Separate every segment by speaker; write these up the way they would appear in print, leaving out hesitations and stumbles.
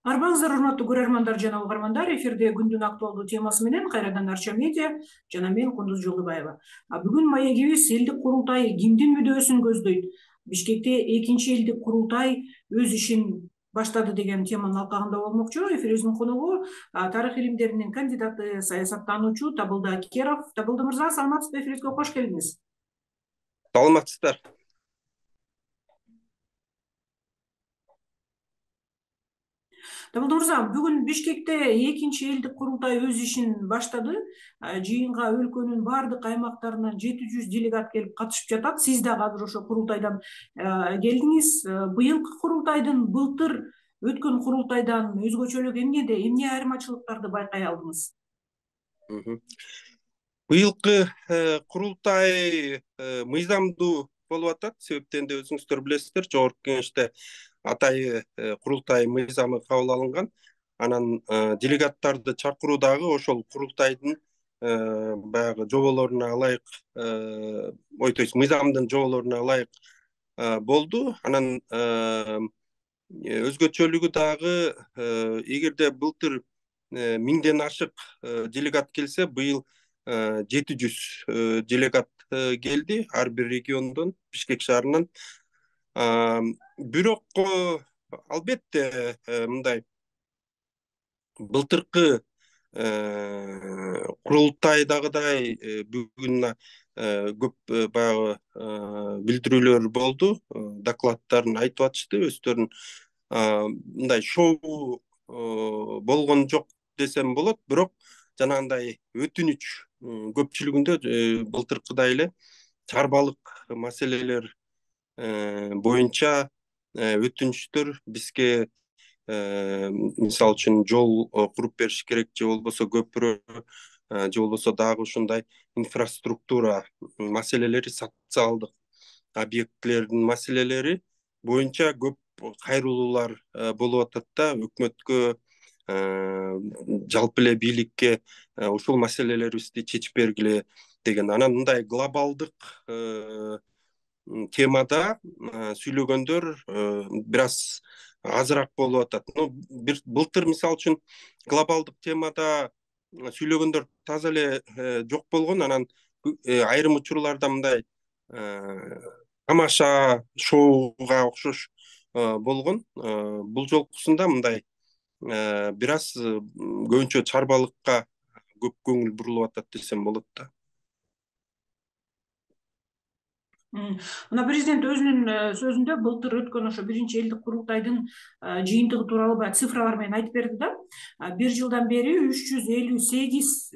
Speaker 1: Арбаңыздар, урматтуу көрөрмандар жана угармандар, эфирде күндүн актуалдуу темасы менен кайрадан Арча медиа жана мен Кундуз Жолдубаева. Бүгүн маегибиз элдик курултай кимдин мүдөөсүн көздөйт? Бишкекте экинчи элдик курултай өз ишин баштады деген теманын алкагында болмокчу. Эфирибиздин коногу тарых илимдеринин кандидаты, саясаттануучу Табылды Акеров. Табылды мырза, саламатсызбы? Эфирибизге кош келиңиз.
Speaker 2: Саламатсыздар.
Speaker 1: Табылды мырза, бүгүн Бишкекте экинчи элдик курултай өз ишин баштады. Жыйынга өлкөнүн баардык аймактарынан 700 делегат келип катышып жатат. Сиз дагы азыр ошо курултайдан келдиңиз. Быйылкы курултайдын былтыр өткөн курултайдан өзгөчөлүгү эмнеде? Эмне айырмачылыктарды байкай алдыңыз?
Speaker 2: Быйылкы курултай мыйзамдуу болуп атат. Себептен де өзүңүздөр билесиздер, жогорку кеңеште атайы курултай мыйзамы кабыл алынган. Анан делегаттарды чакыруу дагы ошол курултайдын баягы жоболоруна ылайык, мыйзамдын жоболоруна ылайык болду. Анан өзгөчөлүгү дагы, эгерде былтыр 1000ден ашык делегат келсе, быйыл 700 делегат келди ар бир региондон, Бишкек шаарынан. Бирок албетте мындай былтыркы курултайдагыдай бүгүн көп баягы билдирүүлөр болду, докладдарын айтып атышты, өздөрүн мындай шоу болгон жок десем болот. Бирок жанагындай өтүнүч көпчүлүгүндө былтыркыдай эле чарбалык маселелер боюнча өтүнүчтөр бизге, мисалы үчүн жол куруп бериш керек, же болбосо көпүрө, же болбосо дагы ушундай инфраструктура маселелери, социалдык объектилердин маселелери боюнча көп кайрылуулар болуп атат да. Өкмөткө, жалпы эле бийликке ушул маселелерибизди чечип бергиле деген. Анан мындай глобалдык темада сүйлөгөндөр бир аз азыраак болуп атат. Былтыр мисалы үчүн глобалдык темада сүйлөгөндөр таза эле жок болгон. Анан айрым учурларда мындай тамаша, шоуга окшош болгон. Бул жолкусунда мындай бир аз көбүнчө чарбалыкка көп көңүл бурулуп атат десем болот да.
Speaker 1: Мына президент өзүнүн сөзүндө былтыр өткөн ошо биринчи элдик курултайдын жыйынтыгы тууралуу баягы цифралар менен айтып берди да. Бир жылдан бери 358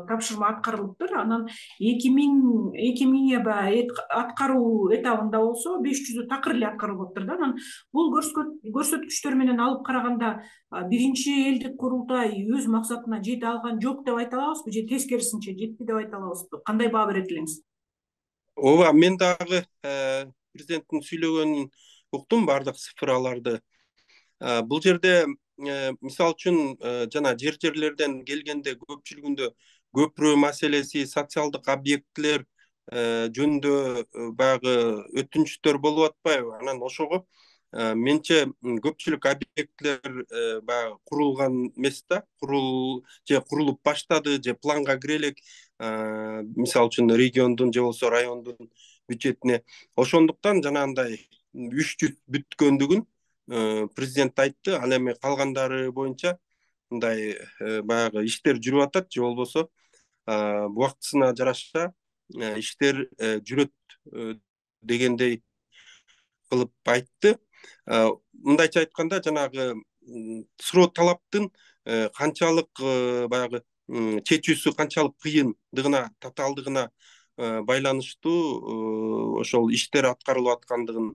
Speaker 1: тапшырма аткарылыптыр. Анан 2000 баягы аткаруу этабында болсо 500 такыр эле аткарылыптыр да. Анан бул көрсөткүчтөр менен алып караганда биринчи элдик курултай өз максатына жете алган жок деп айта алабызбы, же тескерисинче жетти деп айта алабызбы? Кандай баа берет элеңиз?
Speaker 2: Ооба, мен дагы президенттин сүйлөгөнүн уктум, баардык цифраларды. Бул жерде мисалы үчүн жана жерлерден келгенде көпчүлүгүндө көпүрө маселеси, социалдык объектилер жөнүндө баягы өтүнүчтөр болуп атпайбы? Анан ошого менче көпчүлүк объектилер баягы курулган эмес да, же курулуп баштады, же планга кире элек, мисалы үчүн региондун же болбосо райондун бюджетине. Ошондуктан жанагындай 300 бүткөндүгүн президент айтты. Ал эми калгандары боюнча мындай баягы иштер жүрүп атат, же болбосо убактысына жараша иштер жүрөт дегендей кылып айтты. Мындайча айтканда, жанагы суроо талаптын канчалык баягы чечүүсү канчалык кыйындыгына, татаалдыгына байланыштуу ошол иштер аткарылып аткандыгын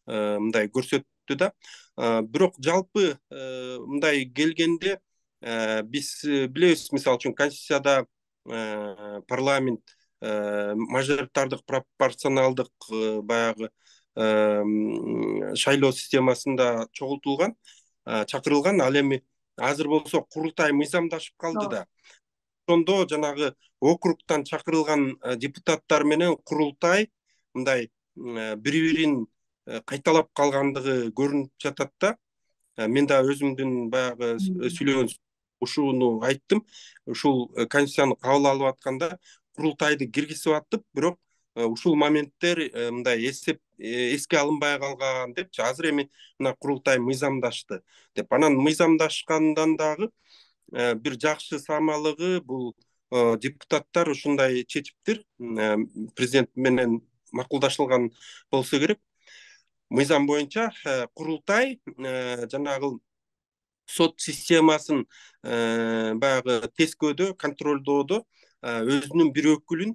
Speaker 2: мындай көрсөттү да. Бирок жалпы мындай келгенде биз билебиз, мисалы үчүн Конституцияда парламент мажоритардык пропорционалдык баягы шайлоо системасында чогултулган, чакырылган. Ал эми азыр болсо курултай мыйзамдашып калды да. Ошондо жанагы округтан чакырылган депутаттар менен курултай мындай бири-бирин кайталап калгандыгы көрүнүп жатат да. мен да өзүмдүн баягы сүйлөгөн ушуну айттым. Ушул конституцияны кабыл алып атканда курултайды киргизип аттык, бирок ушул моменттер мындай эске алынбай калган депчи. Азыр эми мына курултай мыйзамдашты деп. Анан мыйзамдашкандан дагы бир жакшы самалыгы бул депутаттар ушундай чечиптир президент менен макулдашылган болсо керек. Мыйзам боюнча курултай жанагы сот системасын баягы тескөөдө, контролдоодо өзүнүн бир өкүлүн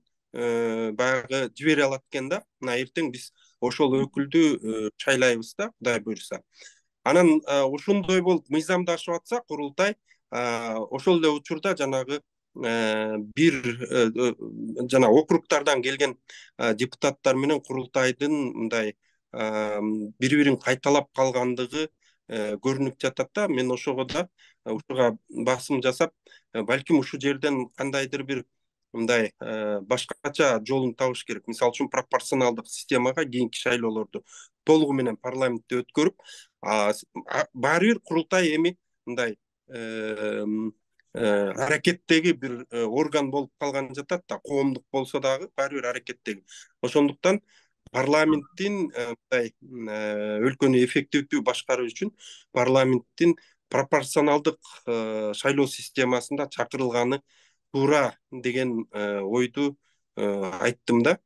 Speaker 2: баягы жибере алат экен да. Мына эртең биз ошол өкүлдү шайлайбыз да, Кудай буюрса. Анан ошондой болуп мыйзамдашып атса курултай, ошол эле учурда жанагы бир жана округтардан келген депутаттар менен курултайдын мындай бири-бирин кайталап калгандыгы көрүнүп жатат да. Мен ошого да ушуга басым жасап, балким ушул жерден кандайдыр бир мындай башкача жолун табыш керек. Мисалы үчүн пропорционалдык системага кийинки шайлоолорду толугу менен парламентте өткөрүп, баары бир курултай эми мындай аракеттеги бир орган болуп калган жатат да. Коомдук болсо дагы баары бир аракеттеги. Ошондуктан парламенттин мындай өлкөнү эффективдүү башкаруу үчүн парламенттин пропорционалдык шайлоо системасында чакырылганы туура деген ойду айттым да.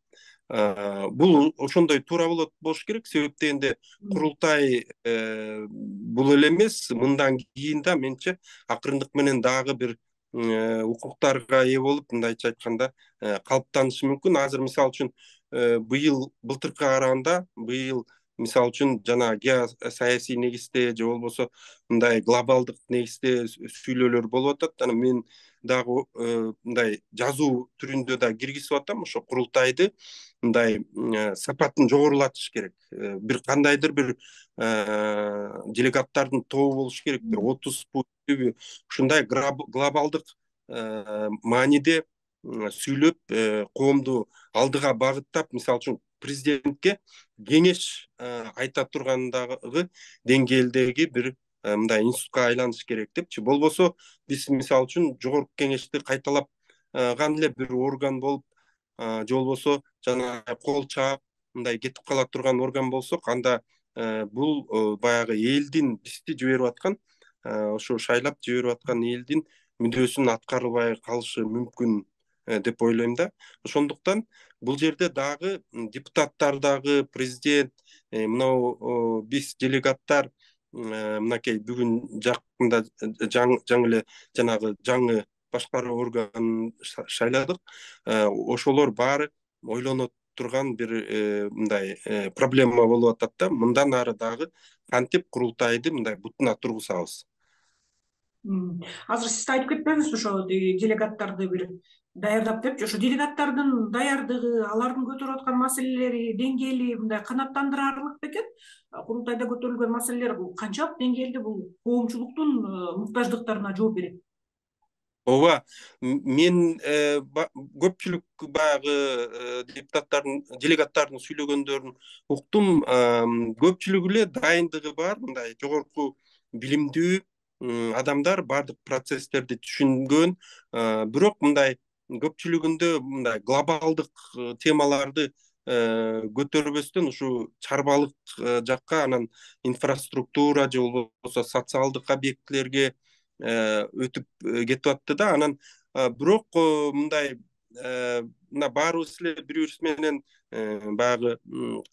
Speaker 2: Бул ошондой туура болуш керек, себеп дегенде курултай бул эле эмес, мындан кийин да менче акырындык менен дагы бир укуктарга ээ болуп, мындайча айтканда калыптанышы мүмкүн. Азыр мисалы үчүн былтыркыга караганда быйыл мисалы үчүн жана геосаясий негизде же болбосо мындай глобалдык негизде сүйлөөлөр болуп атат. Анан мен дагы мындай жазуу түрүндө да киргизип атам. Ошо курултайды мындай сапатын жогорулатыш керек. Бир кандайдыр бир делегаттардын тобу болуш керек, бир 30 ушундай глобалдык мааниде сүйлөп, коомду алдыга багыттап, мисалы үчүн президентке кеңеш айта тургандагы деңгээлдеги бир мындай институтка айланыш керек депчи. Болбосо биз мисалы үчүн жогорку кеңешти кайталапган эле бир орган болуп, же болбосо жана кол чаап мындай кетип кала турган орган болсок, анда бул баягы элдин бизди жиберип аткан, ошо шайлап жиберип аткан элдин мүдөөсүн аткарбай калышы мүмкүн деп ойлойм да. Ошондуктан бул жерде дагы депутаттар дагы президент, мынау биз делегаттар мынакей бүгүн жакында жаңы эле жанагы жаңы башкаруу органын шайладык. Ошолор баары ойлоно турган бир мындай проблема болуп атат да. Мындан ары дагы кантип курултайды мындай бутуна тургузабыз.
Speaker 1: Азыр сиз айтып кетпеңизби ошо делегаттарды бир даярдап депчи. Ошо делегаттардын даярдыгы, алардын көтөрүп аткан маселелери деңгээли мындай канааттандырарлык бекен? Курултайда көтөрүлгөн маселелер бул канчалык деңгээлде бул коомчулуктун муктаждыктарына жооп берет?
Speaker 2: Ооба, мен көпчүлүк баягы делегаттардын сүйлөгөндөрүн уктум. Көпчүлүгү эле дайындыгы бар, мындай жогорку билимдүү адамдар, баардык процесстерди түшүнгөн, бирок мындай көпчүлүгүндө мындай глобалдык темаларды көтөрбөстөн ушу чарбалык жакка, анан инфраструктура же болбосо социалдык объектилерге өтүп кетип атты да. Анан бирок мындай мына баарыбыз эле бири бирибиз менен баягы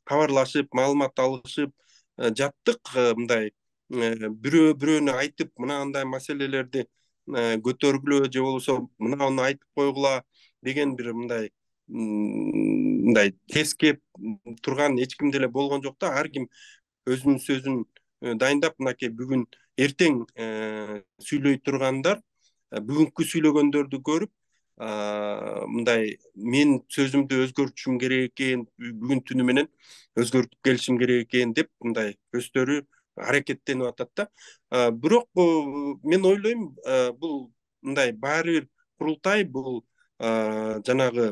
Speaker 2: кабарлашып, маалымат алышып жаттык. Мындай бирөө бирөөнө айтып, мынандай маселелерди көтөргүлө же болбосо мынауну айтып койгула деген бир мындай тескеп турган эч ким деле болгон жок да. Ар ким өзүнүн сөзүн дайындап, мынакей бүгүн эртең сүйлөй тургандар бүгүнкү сүйлөгөндөрдү көрүп, мындай мен сөзүмдү өзгөртүшүм керек экен, бүгүн түнү менен өзгөртүп келишим керек экен деп мындай өздөрү аракеттенип атат да. Бирок мен ойлойм, бул мындай баары бир курултай бул жанагы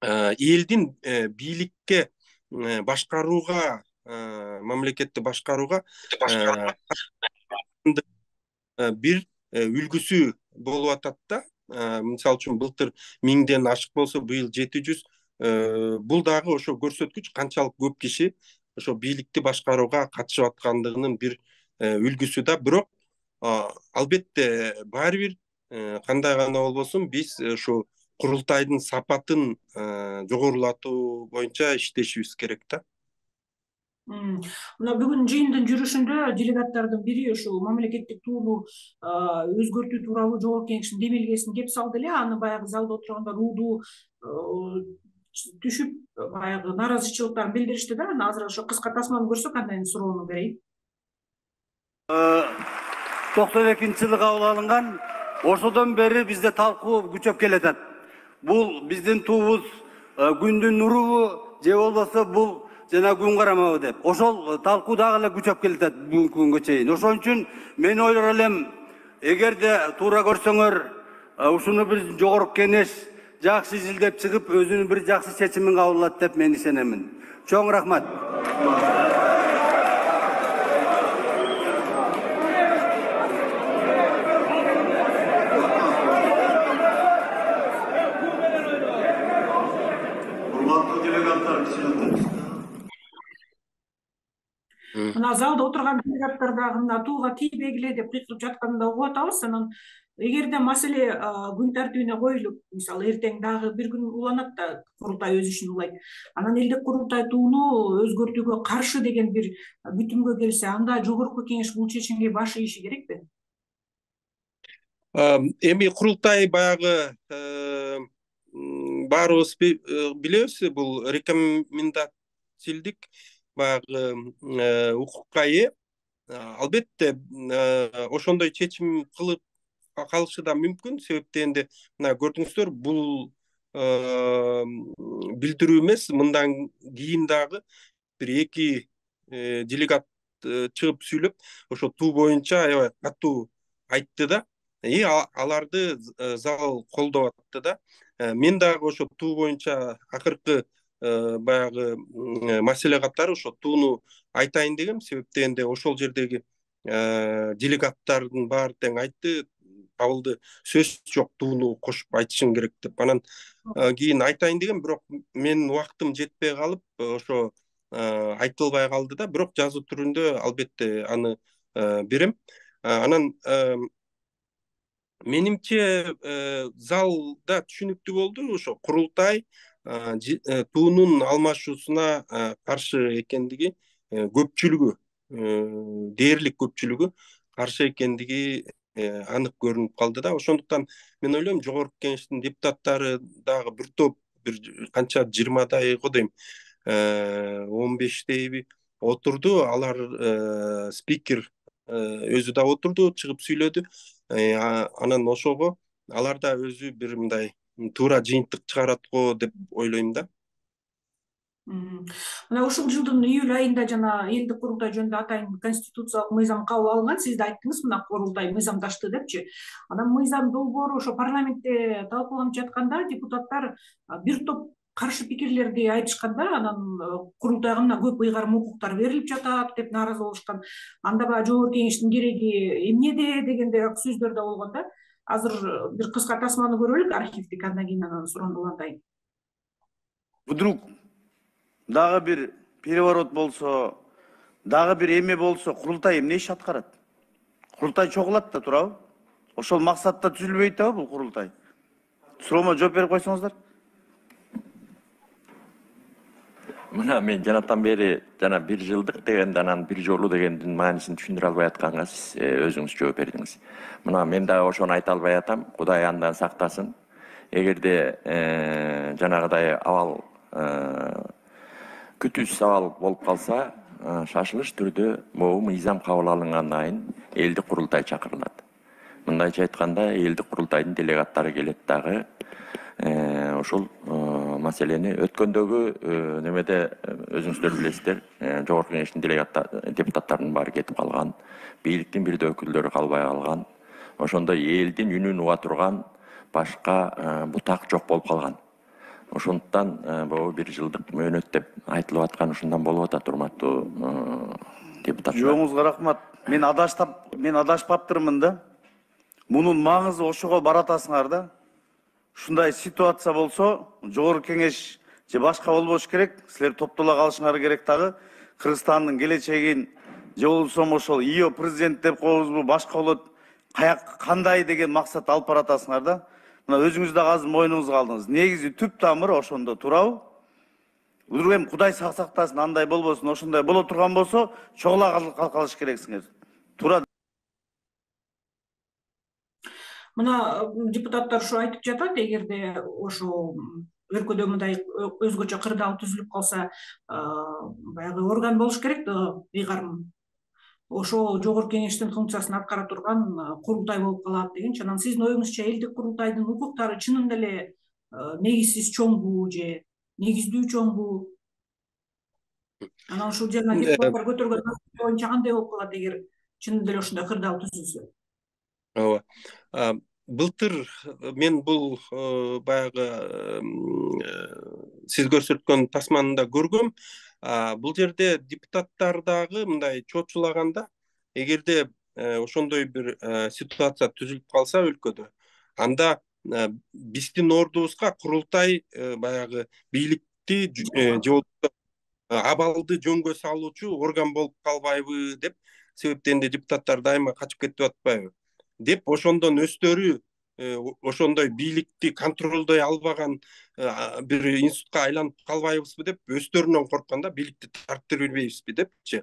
Speaker 2: элдин бийликке башкарууга мамлекетти башкарууга бир үлгүсү болуп атат да. Мисалы үчүн былтыр 1000ден ашык болсо, быйыл 700. Бул дагы ошо көрсөткүч канчалык көп киши ошо бийликти башкарууга катышып аткандыгынын бир үлгүсү да. Бирок албетте баары бир кандай гана болбосун биз ушу курултайдын сапатын жогорулатуу боюнча иштешибиз керек да.
Speaker 1: Мына бүгүн жыйындын жүрүшүндө делегаттардын бири ушул мамлекеттик тууну өзгөртүү тууралуу жогорку кеңештин демилгесин кеп салды эле. Аны баягы залда отургандар уудуу түшүп баягы нааразычылыктарын билдиришти да. Азыр ошо кыска тасманы көрсөк андан суроону берейин.
Speaker 3: 92-жылы кабыл алынган, ошодон бери бизде талкуу күчөп келатат. Бул биздин туубуз күндүн нурубу же болбосо бул жана күн карамабы деп. Ошол талкуу дагы эле күчөп келатат бүгүнкү күнгө чейин. Ошон үчүн мен ойлор элем, эгерде туура көрсөңөр, ушуну бир жогорку кеңеш жакшы изилдеп чыгып, өзүнүн бир жакшы чечимин кабыл алат деп мен ишенемин. Чоң рахмат.
Speaker 1: Мына залда отурган делегаттар дагы мына тууга тийбегиле деп кыйкырып жатканын да угуп атабыз. Анан эгерде маселе күн тартибине коюлуп, мисалы эртең дагы бир күн уланат да, курултай өз ишин улайт. Анан элдик курултай тууну өзгөртүүгө каршы деген бир бүтүмгө келсе, анда жогорку кеңеш бул чечимге баш ийиши керекпи?
Speaker 2: Эми курултай баягы баарыбыз билебиз, бул рекомендативдик баягы укукка ээ. Албетте ошондой чечим кылып калышы да мүмкүн. Себеп дегенде мына көрдүңүздөр, бул билдирүү эмес, мындан кийин дагы бир 2 делегат чыгып сүйлөп, ошо туу боюнча аябай катуу айтты да. Аларды зал колдоп атты да. Мен дагы ошо туу боюнча акыркы баягы маселе катары ошо тууну айтайын дегем. Себеп дегенде ошол жердеги делегаттардын баары тең айтты, кабылды, сөз жок, тууну кошуп айтышың керек деп. Анан кийин айтайын дегем, бирок менин убактым жетпей калып, ошо айтылбай калды да. Бирок жазуу түрүндө албетте аны берем. Анан менимче залда түшүнүктүү болду. Ошо курултай туунун алмашуусуна каршы экендиги, көпчүлүгү, дээрлик көпчүлүгү каршы экендиги анык көрүнүп калды да. Ошондуктан мен ойлойм, жогорку кеңештин депутаттары дагы бир топ, бир канча 20дай го дейм, 15дейби отурду. Алар спикер өзү да отурду, чыгып сүйлөдү. Анан ошого алар да өзү бир мындай туура жыйынтык чыгарат го деп ойлойм да.
Speaker 1: Мына ушул жылдын июль айында жана элдик курултай жөнүндө атайын конституциялык мыйзам кабыл алынган. Сиз да айттыңыз, мына курултай мыйзамдашты депчи. Анан мыйзам долбоору ошо парламентте талкууланып жатканда депутаттар бир топ каршы пикирлерди айтышкан да. Анан курултайга мына көп ыйгарым укуктар берилип жатат деп нааразы болушкан. Анда баягы жогорку кеңештин кереги эмнеде дегендей сөздөр да болгон да. Азыр бир кыска тасманы көрөлүк, архивдик, андан кийин анан суроону улантайын.
Speaker 3: Вдруг дагы бир переворот болсо, дагы бир эме болсо, курултай эмне иш аткарат? Курултай чогулат да, туурабы? Ошол максатта түзүлбөйт да бул курултай. Суроомо жооп берип койсоңуздар.
Speaker 4: Мына мен жанатан бери жана 1 жылдык дегенде, анан 1 жолу дегендин маанисин түшүндүрө албай атканга сиз өзүңүз жооп бердиңиз. Мына мен дагы ошону айта албай атам. Кудай андан сактасын. Эгерде жанагыдай абал күтүүсүз абал болуп калса, шашылыш түрдө могу мыйзам кабыл алынгандан кийин элдик курултай чакырылат. Мындайча айтканда, элдик курултайдын делегаттары келет дагы ошол маселени өткөндөгү немеде өзүңүздөр билесиздер, жогорку кеңештин депутаттарынын баары кетип калган, бийликтин бир да өкүлдөрү калбай калган, ошондой элдин үнүн уга турган башка бутак жок болуп калган. Ошондуктан могу 1 жылдык мөөнөт деп айтылып аткан ушундан болуп атат, урматтуу депутаттар.
Speaker 3: Жооңузга рахмат. Мен адашпаптырмын да. Мунун маңызы ошого баратасыңар да. Ушундай ситуация болсо, жогорку кеңеш же башка болбош керек. Силер топтола калышыңар керек дагы. Кыргызстандын келечегин же болбосо ошол ИО президент деп коебузбу, башка болот, кандай деген максат алып баратасыңар да. Мына өзүңүз да азыр мойнуңузга алдыңыз. Негизи түп тамыры ошондо турабы? Эми Кудай сактасын, андай болбосун, ошондой боло турган болсо, чогула калыш керексиңер. Тура.
Speaker 1: Мына депутаттар ушу айтып жатат, эгерде ошо өлкөдө мындай өзгөчө кырдаал түзүлүп калса, баягы орган болуш керек да, ыйгарым. Ошо жогорку кеңештин функциясын аткара турган курултай болуп калат дегенчи. Анан сиздин оюңузча элдик курултайдын укуктары чынында эле негизсиз чоңбу же негиздүү чоңбу? Анан ушул жана депутаттар көтөргөн боюнча кандай болуп калат эгер чынында эле ушундай кырдаал түзүлсө?
Speaker 2: Ооба. Былтыр мен бул баягы сиз көрсөткөн тасманы да көргөм. Бул жерде депутаттар дагы мындай чочулаганда, эгерде ошондой бир ситуация түзүлүп калса өлкөдө, анда биздин ордубузга курултай баягы бийликти же абалды жөнгө салуучу орган болуп калбайбы деп себептен депутаттар дайыма качып кетип атпайбы деп, ошондон өздөрү ошондой бийликти контролдой албаган бир институтка айланып калбайбызбы деп өздөрүнөн коркканда бийликти тарттыра бербейбизби депчи.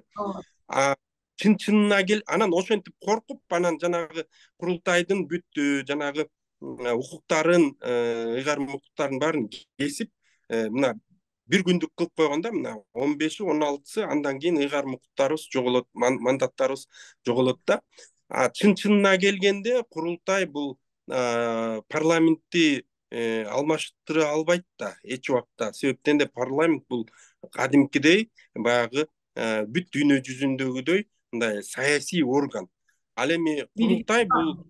Speaker 2: Чынына анан ошентип коркуп, анан жанагы курултайдын бүт жанагы укуктарын, ыйгарым укуктарын баарын кесип, мына бир күндүк кылып койгондо, мына 15-и 16-сы андан кийин ыйгарым укуктарыбыз жоголот, мандаттарыбыз жоголот да. Чынына келгенде курултай бул парламентти алмаштыра албайт да эч убакта. Себептен де парламент бул кадимкидей баягы бүт дүйнө жүзүндөгүдөй мындай саясий орган. Ал эми курултай бул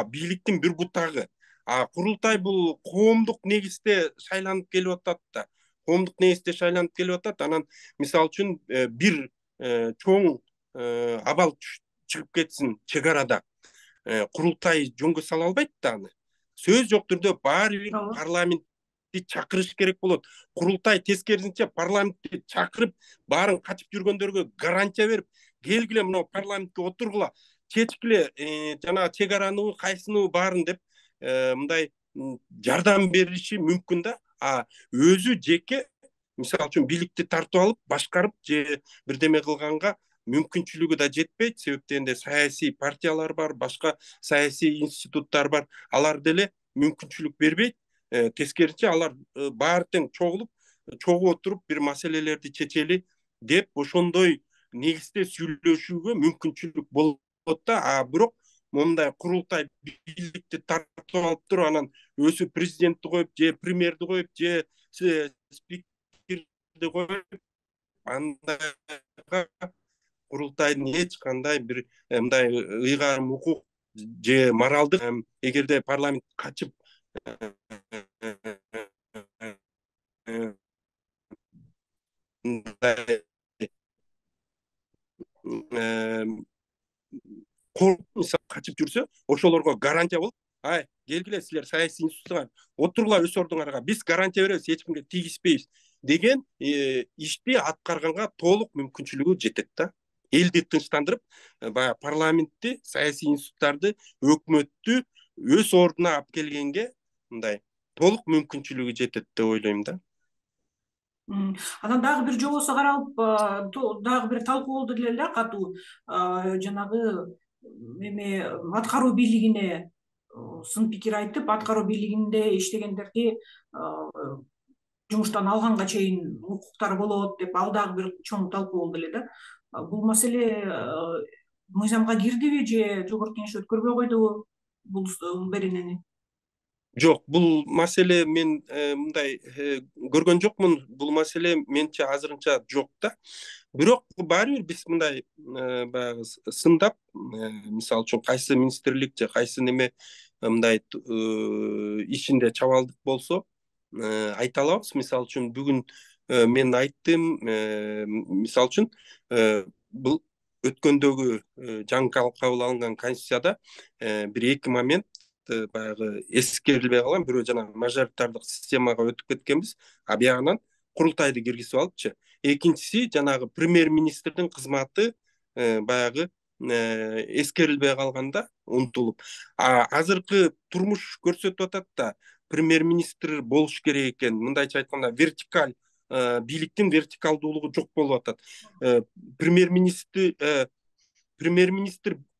Speaker 2: бийликтин бир бутагы. Курултай бул коомдук негизде шайланып келип атат да. Коомдук негизде шайланып келип атат. Анан мисалы үчүн бир чоң абал чыгып кетсин чек арада, курултай жөнгө сала албайт да аны. Сөз жок түрдө баары бир парламентти чакырыш керек болот. Курултай тескерисинче парламентти чакырып, баарын качып жүргөндөргө гарантия берип, келгиле мына парламентке отургула, чечкиле жана чек араны кайсыны баарын деп мындай жардам бериши мүмкүн да. Өзү жеке мисалы үчүн бийликти тартып алып, башкарып же бирдеме кылганга мүмкүнчүлүгү да жетпейт. Себептен де саясий партиялар бар, башка саясий институттар бар. Алар деле мүмкүнчүлүк бербейт. Тескерисинче алар баары тең чогуу отуруп бир маселелерди чечели деп ошондой негизде сүйлөшүүгө мүмкүнчүлүк болот да. Бирок мондай курултай бийликти тартып алып туруп, анан өзү президентти коюп, же премьерди коюп, же спикерди коюп, андайга курултайдын эч кандай бир мындай ыйгарым укук же моралдык, эгерде парламент качып качып жүрсө, ошолорго гарантия болуп, келгиле силер саясий институттуга отургула өз ордуңарга, биз гарантия беребиз, эч кимге тийгизбейбиз деген ишти аткарганга толук мүмкүнчүлүгү жетет да. Элди тынчтандырып, баягы парламентти, саясий институттарды, өкмөттү өз ордуна алып келгенге мындай толук мүмкүнчүлүгү жетет деп ойлойм да.
Speaker 1: Анан дагы бир жобосу каралып, дагы бир талкуу болду деле да, катуу. Жанагы эме аткаруу бийлигине сын пикир айтып, аткаруу бийлигинде иштегендерди жумуштан алганга чейин укуктары болот деп, ал дагы бир чоң талкуу болду эле да. Бул маселе мыйзамга кирдиби же жогорку кеңеш өткөрбөй койдубу бул беренени?
Speaker 2: Жок, бул маселе мен мындай көргөн жокмун. Бул маселе менче азырынча жок да. Бирок баары бир биз мындай баягы сындап, мисалы үчүн кайсы министрлик же кайсы неме мындай ишинде чабалдык болсо, айта алабыз. Мисалы үчүн бүгүн мен айттым, мисалы үчүн бул өткөндөгү жаңы кабыл алынган конституцияда бир эки момент баягы эскерилбей калган. Бирөө жана мажоритардык системага өтүп кеткенбиз, а биягынан курултайды киргизип алыпчы. Экинчиси жанагы премьер-министрдин кызматы баягы эскерилбей калганда унутулуп. Азыркы турмуш көрсөтүп атат да, премьер-министр болуш керек экен. Мындайча айтканда вертикаль бийликтин вертикалдуулугу жок болуп атат. Премьер-министр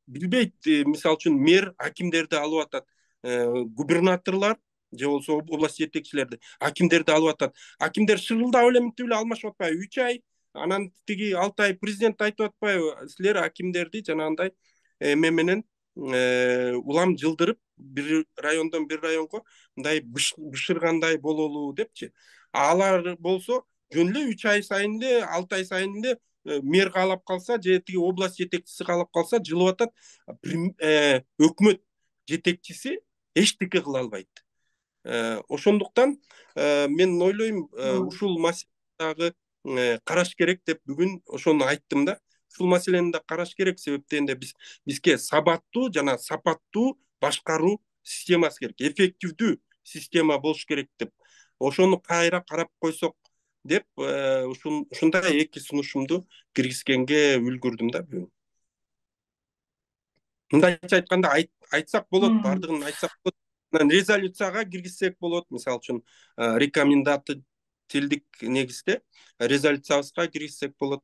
Speaker 2: билбейт, мисалы үчүн мэр акимдерди алып атат, губернаторлор же болбосо область жетекчилерди, акимдерди алып атат. Акимдер шырылдап эле мынтип эле алмашып атпайбы? 3 ай, анан тиги 6 ай президент айтып атпайбы? Силер акимдерди жанагындай менен улам жылдырып, бир райондон бир районго мындай бышыргандай бололу депчи. Алар болсо жөн эле 3 ай сайын эле, 6 ай сайын эле мэр каалап калса же тиги область жетекчиси каалап калса жылып атат. Өкмөт жетекчиси эчтеке кыла албайт. Ошондуктан мен ойлойм, ушул маселени караш керек деп бүгүн ошону айттым да. Ушул маселени да караш керек, себеп дегенде бизге сабаттуу жана сапаттуу башкаруу системасы керек, эффективдүү система болуш керек деп. Ошону кайра карап койсок деп ушундай эки сунушумду киргизгенге үлгүрдүм да бүгүн. Мындайча айтканда айтсак болот, бардыгын айтсак болот. Резолюцияга киргизсек болот, мисалы үчүн рекомендательдик негизде резолюциябызга киргизсек болот.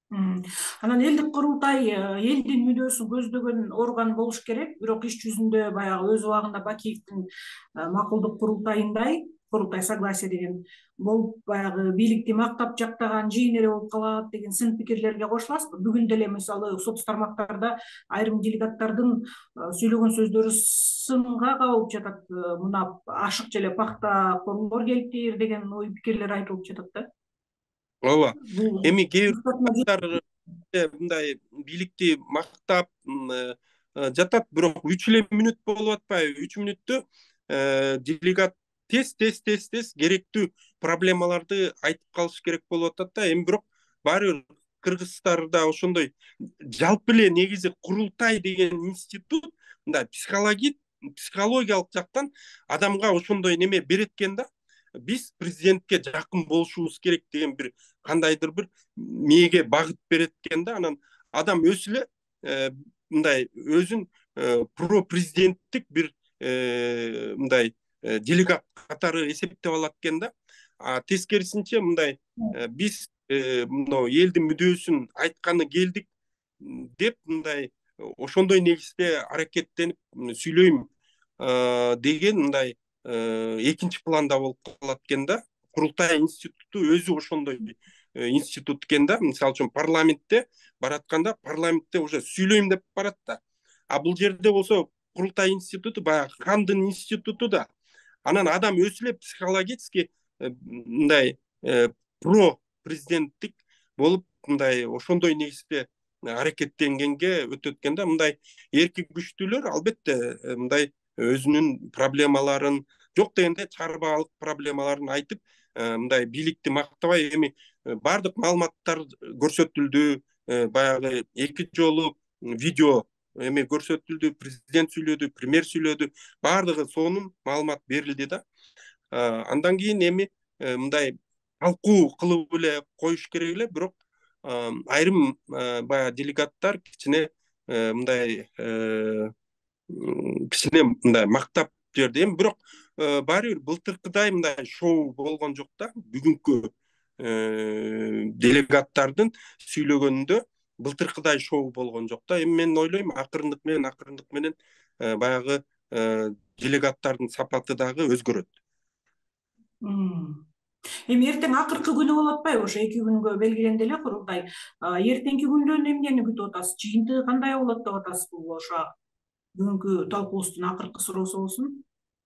Speaker 1: Анан элдик курултай элдин мүдөөсүн көздөгөн орган болуш керек, бирок иш жүзүндө баягы өз убагында Бакиевдин макулдук курултайындай, курултай согласие деген болуп, баягы бийликти мактап жактаган жыйын эле болуп калат деген сын пикирлерге кошуласызбы? Бүгүн деле мисалы соц тармактарда айрым делегаттардын сүйлөгөн сөздөрү сынга кабылып жатат. Мына ашык желе пахта коңдор келиптир деген ой пикирлер айтылып жатат да.
Speaker 2: Ооба. Эми кээ бир мындай бийликти мактап жатат, бирок 3 эле мүнөт болуп атпайбы? 3 мүнөттө делегат тез керектүү проблемаларды айтып калыш керек болуп атат да. Эми бирок баары бир кыргыздарда ошондой жалпы эле негизи курултай деген институт мындай психологиялык жактан адамга ошондой неме берет экен да. Биз президентке жакын болушубуз керек деген бир кандайдыр бир мээге багыт берет экен да. Анан адам өзү эле мындай өзүн про президенттик бир мындай делегат катары эсептеп алат экен да. Тескерисинче мындай биз мына элдин мүдөөсүн айтканы келдик деп мындай ошондой негизде аракеттенип сүйлөйм деген мындай экинчи планда болуп калат экен да. Курултай институту өзү ошондой институт экен да. Мисалы үчүн парламентте баратканда парламентте уже сүйлөйм деп барат да. Бул жерде болсо курултай институту баягы хандын институту да. Анан адам өзү эле психологически мындай про президенттик болуп мындай ошондой негизде аракеттенгенге өтөт экен да. Мындай эрки күчтүүлөр албетте мындай өзүнүн проблемаларын, жок дегенде чарбаалык проблемаларын айтып, мындай бийликти мактабай, эми бардык маалыматтар көрсөтүлдү, баягы 2 жолу видео эми көрсөтүлдү, президент сүйлөдү, премьер сүйлөдү, бардыгы сонун маалымат берилди да. Андан кийин эми мындай талкуу кылып эле коюш керек эле, бирок айрым баягы делегаттар кичине мындай мактап жерди. Эми бирок баары бир былтыркыдай мындай шоу болгон жок да. Бүгүнкү делегаттардын сүйлөгөнүндө былтыркыдай шоу болгон жок да. Эми мен ойлойм акырындык менен баягы делегаттардын сапаты дагы өзгөрөт.
Speaker 1: Эми эртең акыркы күнү болуп атпайбы? Ошо 2 күнгө белгиленди эле курултай. Эртеңки күндөн эмнени күтүп атасыз? Жыйынтыгы кандай болот деп атасызбы? Ошо бүгүнкү талкуубуздун акыркы суроосу болсун.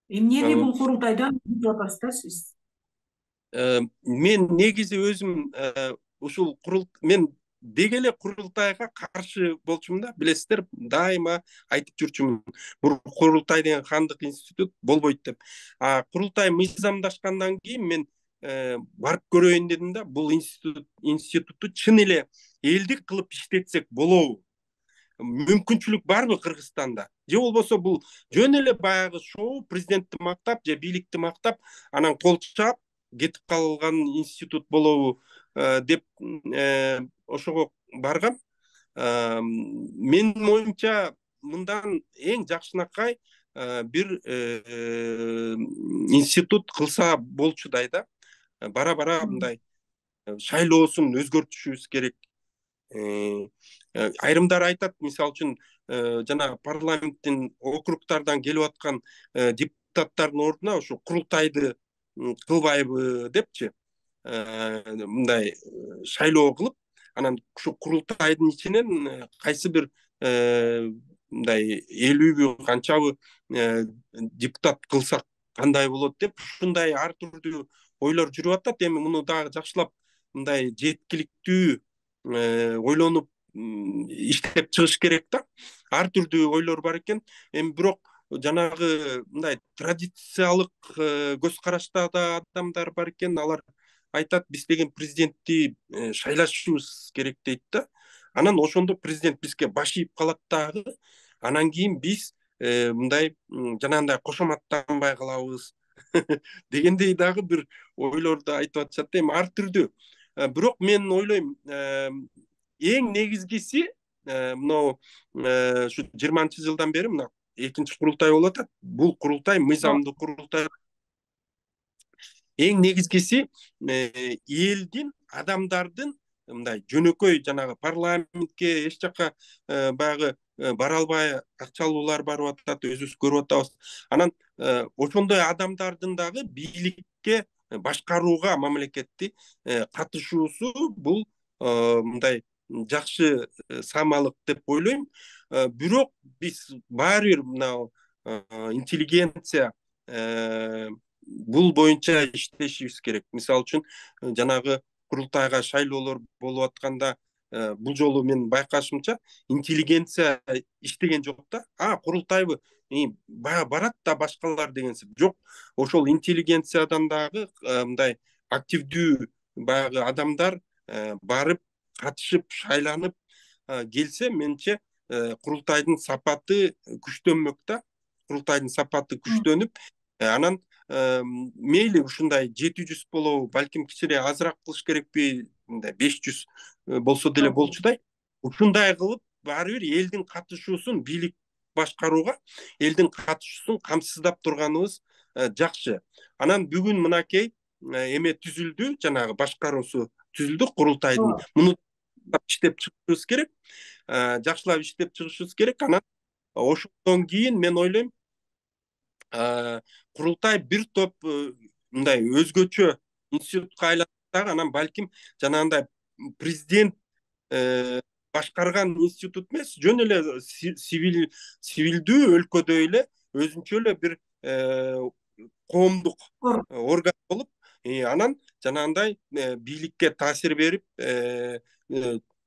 Speaker 1: Эмнени бул курултайдан күтүп атасыз да сиз?
Speaker 2: Мен негизи өзүм ушул мен деги эле курултайга каршы болчумун да, билесиздер, дайыма айтып жүрчүмүн. Бул курултай деген хандык институт болбойт деп. Курултай мыйзамдашкандан кийин мен барып көрөйүн дедим да, бул институтту чын эле элдик кылып иштетсек болобу? Мүмкүнчүлүк барбы Кыргызстанда? Же болбосо бул жөн эле баягы шоу, президентти мактап же бийликти мактап, анан кол чаап кетип калган институт болобу деп ошого баргам. Менин оюмча мындан эң жакшынакай бир институт кылса болчудай да. Бара мындай шайлоосун өзгөртүшүбүз керек. Айрымдар айтат, мисалы үчүн жана парламенттин округтардан келип аткан депутаттардын ордуна ошо курултайды кылбайбы депчи, мындай шайлоо кылып, анан ушу курултайдын ичинен кайсы бир мындай 50 канчабы депутат кылсак кандай болот деп, ушундай ар түрдүү ойлор жүрүп атат. Эми муну дагы жакшылап мындай жеткиликтүү ойлонуп иштеп чыгыш керек да. Ар түрдүү ойлор бар экен. Эми бирок жанагы мындай традициялык көз караштагы адамдар бар экен. Алар айтат, биз деген президентти шайлашыбыз керек дейт да. Анан ошондо президент бизге баш ийип калат дагы. Анан кийин биз мындай жанагындай кошоматтанбай калабыз дегендей дагы бир ойлорду айтып атышат. Эми ар түрдүү. Бирок мен ойлойм, эң негизгиси мынау ушу 20-жылдан бери мына экинчи курултай болуп атат. Бул курултай мыйзамдуу курултай. Эң негизгиси элдин, адамдардын мындай жөнөкөй жанагы парламентке эч жака баягы бара албай акчалуулар барып атат, өзүбүз көрүп атабыз. Анан ошондой адамдардын дагы бийликке башкарууга мамлекетти катышуусу бул мындай жакшы самалык деп ойлойм. Бирок биз баары бир мына интеллигенция бул боюнча иштешибиз керек. Мисалы үчүн жанагы курултайга шайлоолор болуп атканда бул жолу мен байкашымча интеллигенция иштеген жок да. Курултайбы баягы барат да башкалар дегенсип. Жок, ошол интеллигенциядан дагы мындай активдүү баягы адамдар барып катышып шайланып келсе, менимче курултайдын сапаты күчтөнмөк да. Курултайдын сапаты күчтөнүп, анан мейли ушундай 700 болобу, балким кичине азыраак кылыш керекпи, мындай 500 болсо деле болчудай. Ушундай кылып баары бир элдин катышуусун бийлик башкарууга, элдин катышуусун камсыздап турганыбыз жакшы. Анан бүгүн мынакей эме түзүлдү, жанагы башкаруусу түзүлдү курултайдын. Муну иштеп чыгышыбыз керек, жакшылап иштеп чыгышыбыз керек. Анан ошондон кийин мен ойлойм, курултай бир топ мындай өзгөчө институтка айланса, анан балким жанагындай президент башкарган институт эмес, жөн эле сивилдүү өлкөдөй эле өзүнчө эле бир коомдук орган болуп, анан жанагындай бийликке таасир берип,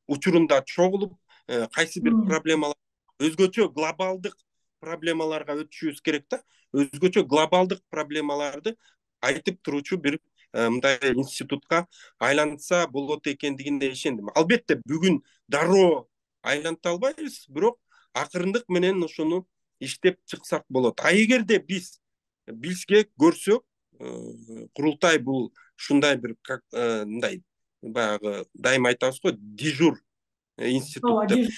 Speaker 2: учурунда чогулуп, кайсы бир проблемалар, өзгөчө глобалдык проблемаларга өтүшүбүз керек да. Өзгөчө глобалдык проблемаларды айтып туруучу бир мындай институтка айланса болот экендигине ишендим. Албетте бүгүн дароо айланта албайбыз, бирок акырындык менен ошону иштеп чыксак болот. Эгерде бизге көрсөк, курултай бул ушундай бир мындай баягы дайыма айтабыз го, дежур институт деп.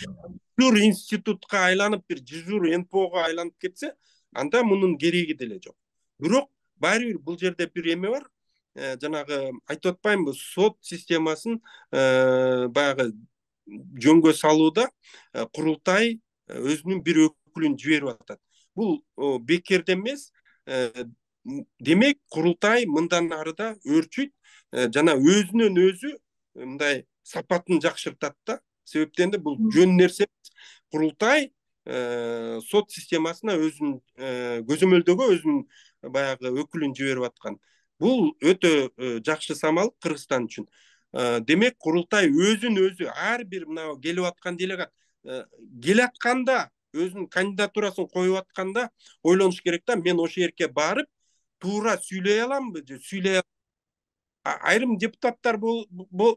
Speaker 2: Дежур институтка айланып, бир дежур НПОго айланып кетсе, анда мунун кереги деле жок. Бирок баары бир бул жерде бир эме бар. Жанагы айтып атпаймынбы, сот системасын баягы жөнгө салууда курултай өзүнүн бир өкүлүн жиберип атат. Бул бекерден эмес. Демек, курултай мындан арыда өрчүйт, жана өзүнөн өзү мындай сапатын жакшыртат да. Себептен да бул жөн нерсе. Курултай сот системасына өзүнүн көзөмөлдөгө өзүнүн баягы өкүлүн жиберип аткан. Бул өтө жакшы самал Кыргызстан үчүн. демек курултай өзүн өзү ар бир мына келип аткан делегат келатканда өзүнүн кандидатурасын коюп атканда ойлонуш керек да, мен ошол жерге барып туура сүйлөй аламбы же сүйлөй айрым депутаттар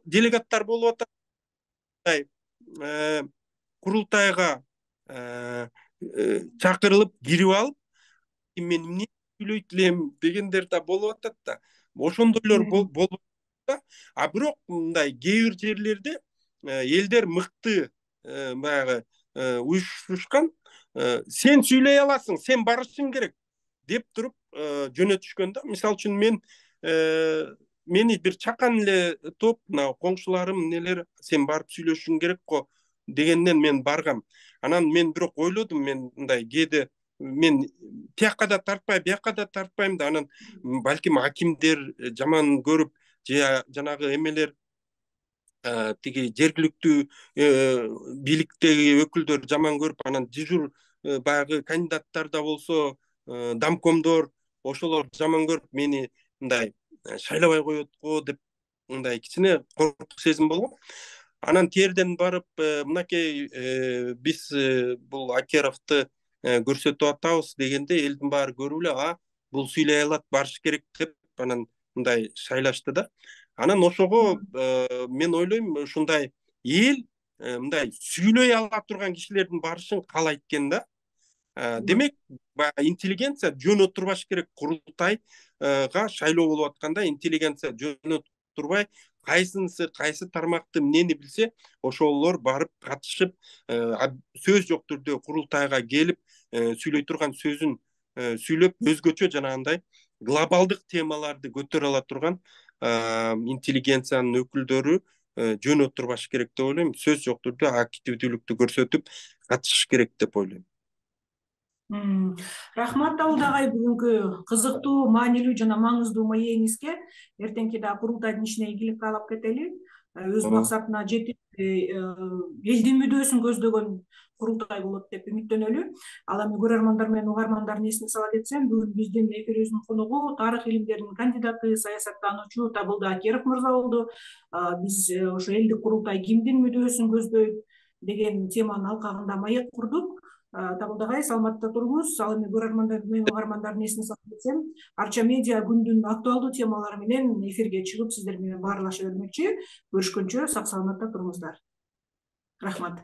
Speaker 2: делегаттар болуп атат, курултайга чакырылып кирип алып мен эмне сүйлөйт элем дегендер да болуп атат да, ошондойлор болуп атат. А бирок мындай кээ бир жерлерде элдер мыкты баягы уюшушкан, сен сүйлөй аласың, сен барышың керек деп туруп жөнөтүшкөн да. Мисалы үчүн мени бир чакан эле топ, мына коңшуларым нелер, сен барып сүйлөшүң керек го дегенден мен баргам. Анан мен бирок ойлодум, мен мындай кээде мен тияка да тартпай, бияка да тартпайм да, анан балким акимдер жаман көрүп же жанагы эмелер тиги жергиликтүү бийликтеги өкүлдөр жаман көрүп, анан дежур баягы кандидаттар да болсо, домкомдор ошолор жаман көрүп мени мындай шайлабай коет го деп мындай кичине коркук сезим болгон. Анан терден барып мынакей биз бул Акеровду көрсөтүп атабыз дегенде элдин баары көрүп эле бул сүйлөй алат, барыш керек деп анан мындай шайлашты да. Анан ошого мен ойлойм, ушундай эл мындай сүйлөй ала турган кишилердин барышын каалайт экен да. Демек интеллигенция жөн отурбаш керек. Курултайга шайлоо болуп атканда интеллигенция жөн отурбай, кайсы тармакты эмнени билсе ошолор барып катышып, сөз жок түрдө курултайга келип сүйлөй турган сөзүн сүйлөп, өзгөчө жанагындай глобалдык темаларды көтөрө ала турган интеллигенциянын өкүлдөрү жөн отурбаш керек деп ойлойм. Сөз жок түрдө активдүүлүктү көрсөтүп катышыш керек деп ойлойм.
Speaker 1: Рахмат Давылда агай, бүгүнкү кызыктуу, маанилүү жана маңыздуу маегиңизге. Эртеңки да курултайдын ишине ийгилик каалап кетели. Өз максатына жетип, элдин мүдөөсүн көздөгөн курултай болот деп үмүттөнөлү. Ал эми көрөрмандар менен угармандардын эсине сала кетсем, бүгүн биздин эфирибиздин коногу тарых илимдеринин кандидаты, саясаттануучу Табылда Акеров мырза болду. Биз ошо элдик курултай кимдин мүдөөсүн көздөйт деген теманын алкагында маек курдук. Табылда агай, саламатта туруңуз. Ал эми көрөрмандар менен угармандардын эсине салып кетсем, Арча медиа күндүн актуалдуу темалары менен эфирге чыгып сиздер менен баарлаша бермекчи. Көрүшкөнчө сак саламатта туруңуздар. Рахмат.